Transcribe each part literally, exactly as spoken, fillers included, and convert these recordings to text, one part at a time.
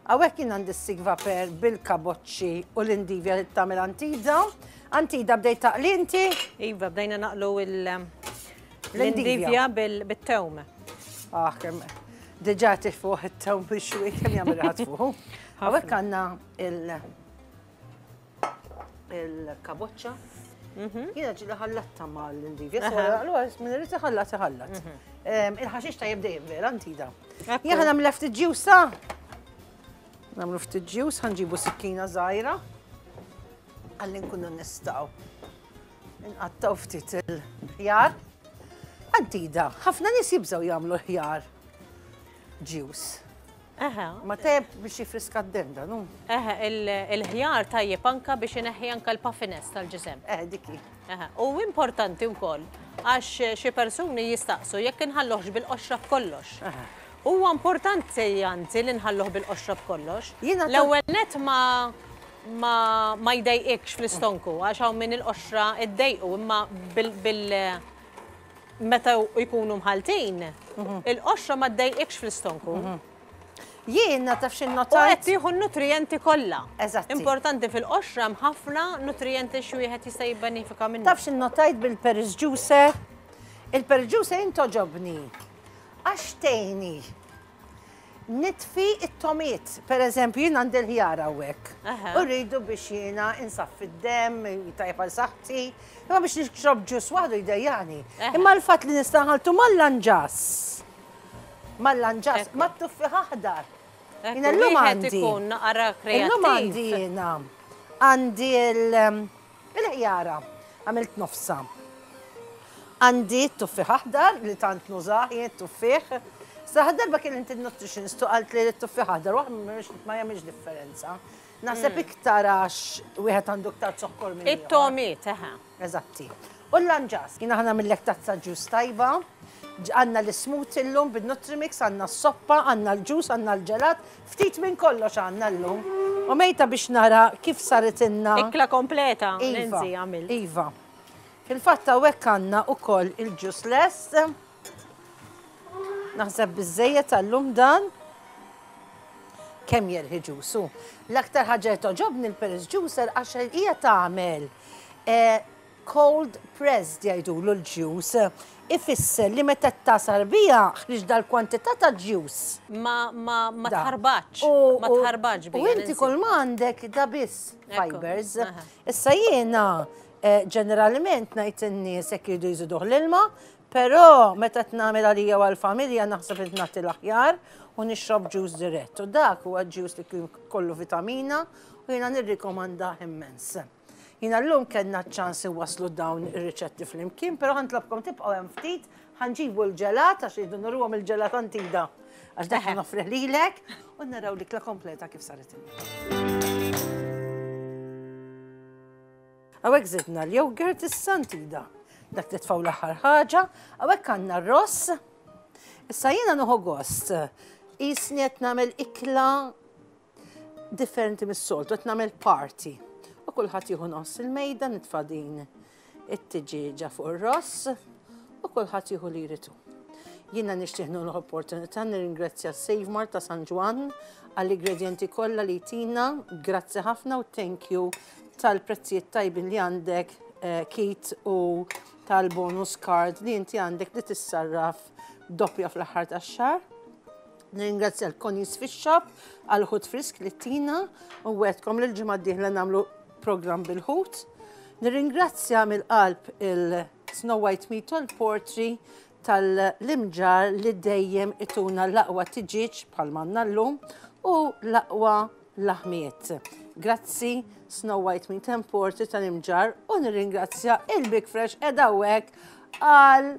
Hawnhekk jien għandi s-Sigva per bil-kaboċċi u l-indivja li tagħmel Antida. Antida, bdejt taqli inti? Iva, bdejna naqlu l-indivja bil-tewm. Ah, kemm diġà tifuħ it-tewm bix-xwi, kemm jagħmel ħadd fuq. Hawnhekk għandna il- il-kaboċċa. Jiena ġieli ħallatta mal-indivja, allura min irid iħallat iħallat. Il-ħaxix tajjeb dejjem, vera, Antida? Jien nagħmel ftit juice. Nagħmlu ftit juice, ħa nġibu sikkina żgħira. Għalli nkunu nistgħu nqattgħu ftit il-ħjar. Antida, ħafna nies jibżgħu jagħmlu ħjar juice. Eħe. Ma tajjeb biex jifriska d-dem da, nu? Eħe, il-ħjar tajjeb anka biex ineħħi anka l-puffiness tal-ġisem. Eh, diki. Eħe, u importanti wkoll għax xi persuni jistaqsu jekk inħalluhx bil-qoxra b'kollox. Huwa importanti, anzi, li nħalluh bil-qoxra b'kollox. Jiena ta- L-ewwel net ma ma ma jdejqikx fl-istonku, għax hawn min il-qoxra iddejqu, imma bil, bil meta jkunu mħaltin, il-qoxra ma ddejqikx fl-istonku. Jiena taf xi U qed notajt? tieħu n-nutrijenti kollha. Eżatti. Importanti, fil-qoxra hemm ħafna nutrijenti xi wieħed jista' jibbenefika minnu. Taf xi notajt bil-Paris juicer? Il-Paris juicer jogħġobni. Għax tgħinni nitfi it-tomiet. Per eżempju, jien għandi l-ħjar hawnhekk. Aha. U rridu biex jiena insaffi d-dem, tajjeb għal saħħti. Imma biex nixrob juice waħdu jdejjani. Aha. Imma l-fatt li nista' nħalltu mal-lanġas. Mal-lanġas, Ekku. mat-tuffiħ aħdar. Ekku, Jiena llum wieħed għandi. ikun naqra Illum għandi kreattiv. jiena. Għandi il- il-ħjara. Għamilt nofsa. Għandi t-tuffiħ aħdar li tant nużah jien t-tuffiħ. Sa darba kien inti nutritionist u qalt li t-tuffiħ aħdar waħ ma jagħmilx differenza. Naħseb iktar għax wieħed għandu iktar zokkor minn ieħor. It-tomiet, eħe. Eżatti. U l-lanġas, jiena ħa nagħmillek tazza juice tajba, Ġ- għandna l-smoothie l-lum bil-Nutrimix, għandna s-soppa, għandna l-juice, għandna l-ġelat, ftit minn kollox għandna l-lum. U mejta biex nara kif saret inna. Ikla kompleta, Iva, Lindsay, għamil. Iva. Fil-fatt hawnhekk għandna ukoll il-juice lest. Naħseb biżejjed tal-lum dan. Kemm jerħi juice. L-aktar ħaġa li togħġobni l-Paris Juicer għax hija tagħmel eh, cold pressed jgħidulu l-juice. Ifisser li meta tagħsar biha ħriġ dal-kwantità ta' juice. Ma, ma, ma Da. tħarbatx. U- Ma u- tħarbatx U bija. inti Nancy. kull ma għandek da biss Ekku, fibers. aha. Issa jiena eh, ġeneralment ngħid in-nies jekk jridu jżiduh l-ilma, però meta nagħmel għalija u għall-familja naħseb li nagħti l-aħjar u nixrob juice dirett. U dak huwa juice li kien kollu vitamina u jiena nirrikomanda immens. Jiena llum kellna ċans waslu dawn ir-riċetti flimkien, però ħa nitlobkom tibqgħu hemm ftit, ħa nġibu l-ġelat għax jridu nuruhom il-ġelat, Antida. Għax dak noffrih lilek u naraw l-ikla kompleta kif saret. Hawnhekk zidna l-yogurt issa, Antida. Dak titfaw l-aħħar ħaġa, hawnhekk għandna r-ross. Issa jiena nieħu gost. Qisni qed nagħmel ikla differenti mis-soltu, qed nagħmel party. U kulħadd jieħu nofs il-mejda, nitfa' din it-tiġieġa fuq ir-ross u kulħadd jieħu li jridu. Jiena nixtieq nieħu l-opportunità nirringrazzja Save Mart ta' San Ġwann għall-ingredienti kollha li tina, grazzi ħafna u thank you tal-prezzijiet tajbin li għandek, eh, Kit, u tal-bonus card li inti għandek li tissarraf doppja fl-aħħar tax-xahar. Nirringrazzja l-Connie's Fish Shop għal-ħut frisk li tina u wegħedtkom li l-ġimgħa d-dieħla nagħmlu program bil-ħut. Nirringrazzja mill-qalb il-Snow White Meat and Poultry tal-Imġarr li dejjem ituna l-aqwa tiġiġ bħal m'għandna llum u l-aqwa laħmiet. Grazzi, Snow White Meat and Poultry tal-Imġarr, u nirringrazzja il-Big Fresh edawek għal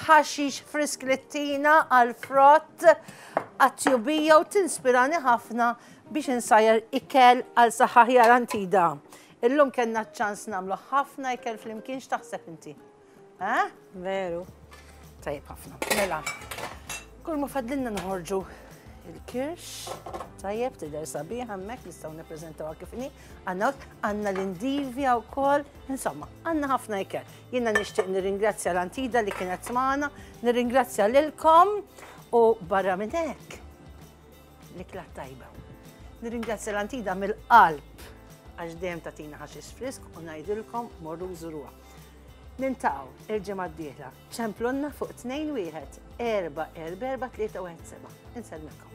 ħaxix frisk li tina, għal frott, għat-tjubija u tinspirani ħafna biex insajjar ikel għal saħħa aħjar, Antida. Illum kellna ċans nagħmlu ħafna ikel flimkien, x'taħseb inti? Eh? Veru. Tajjeb ħafna. Mela, kull ma fadlilna noħorġu il-kirsch, tajjeb, tidher sabiħ hemmhekk, nistgħu nippreżentawha kif inhi. Għandna għandna l-indivja wkoll, insomma, għandna ħafna ikel. Jiena nixtieq nirringrazzja l-Antida li kienet magħna, nirringrazzja lilkom u barra minn hekk l-ikla tajba. Nirringrazzja l-Antida mill-qalb għax dejjem tagħtina ħaxix frisk u ngħidilkom morru żuruha. Niltaqgħu il-ġimgħa d-dieħla. Ċemplunna fuq tnejn wieħed erba' erba' erba' tlieta wieħed seba'. Insellmilkom.